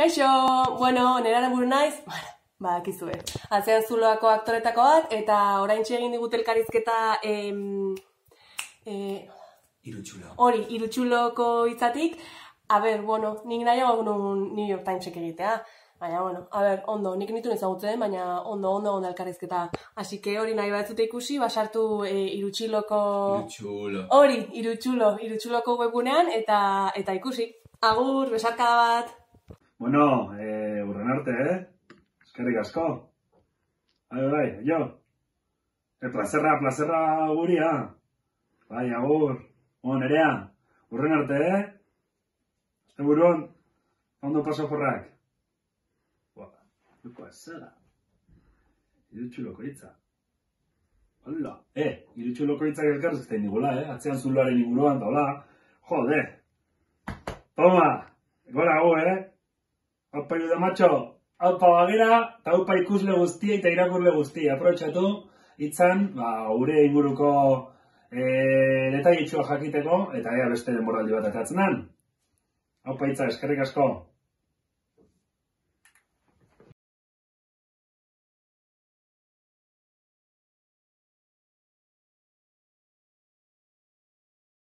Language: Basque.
Kaixo, bueno, nerara buru naiz, badakizue. Atzean Zuloako aktoretako bat, eta oraintxe egin digute elkarrizketa Irutsulo. Hori, Irutsuloko hitzatik. Nik nahiago nun New York Timesek egitea. Baina, ondo, nik nituen ezagutzen, baina ondo elkarrizketa. Así que hori nahi batzute ikusi, basartu Irutsuloko... Irutsulo. Hori, Irutsuloko webgunean, eta ikusi. Agur, besarkada bat. Bueno, urren arte, eskerrik asko. Bai, jo. Plazerra guria. Bai, agur. Nerea, urren arte, Este buruan, ondo pasaporrak. Duko azela. Irutsuloko hitza. Hola. Irutsuloko hitzak elkarrizketan digula, Atzean Zuloaren inguruan, da, hola. Jode. Toma, gora gu, Aupa iruda macho, aupa bagera, eta aupa ikusle guztia eta irakurle guztia. Aprobetxatu, hitzan, gure inguruko detailitxua jakiteko, eta ea beste denboraldi bat atatzen den. Aupa hitza, eskerrik asko.